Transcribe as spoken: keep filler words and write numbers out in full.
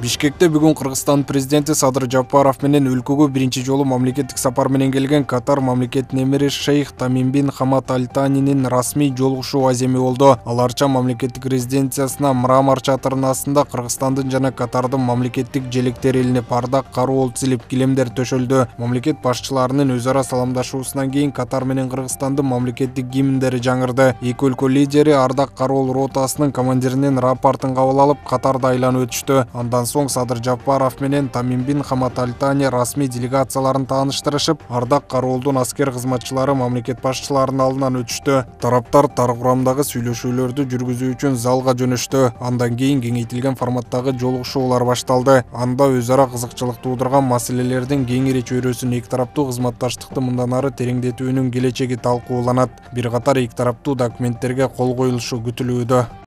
Бишкекте бүгүн Кыргызстан президенти Садыр Жапаров менен өлкөгө биринчи жолу мамлекеттик сапар менен келген Катар мамлекетинин эмири шейх Тамим бин Хамад Аль Танинин расмий жолугушуу аземи болду. Аларча мамлекеттик резиденциясына мрамор чатырынын астында Кыргызстандын жана Катардын мамлекеттик желектери илинип, ардак кароол тизилип, килемдер төшөлдү. Мамлекет башчыларынын өз ара саламдашуусунан кийин Катар менен Кыргызстандын мамлекеттик гимндери жаңырды. Эки өлкө лидери ардак кароол ротасынын командиринин рапортун кабыл алып, Катарды айланып өтүштү. Андан соң Садыр Жапаров менен Тамим бин Хамад Аль Тани расмий делегацияларын тааныштырышып, ардак кароолдун аскер кызматчылары мамлекет башчыларынын алдынан өтүштү. Тараптар тар курамдагы сүйлөшүүлөрдү жүргүзүү үчүн залга жөнөштү. Андан кийин кеңейтилген форматтагы жолугушуулар башталды. Анда өз ара кызыкчылык туудурган маселелердин кеңири чөйрөсүн эки тараптуу кызматташтыкты мындан ары тереңдетүүнүн келечеги талкууланат. Бир катар эки тараптуу документтерге кол коюлушу күтүлүүдө.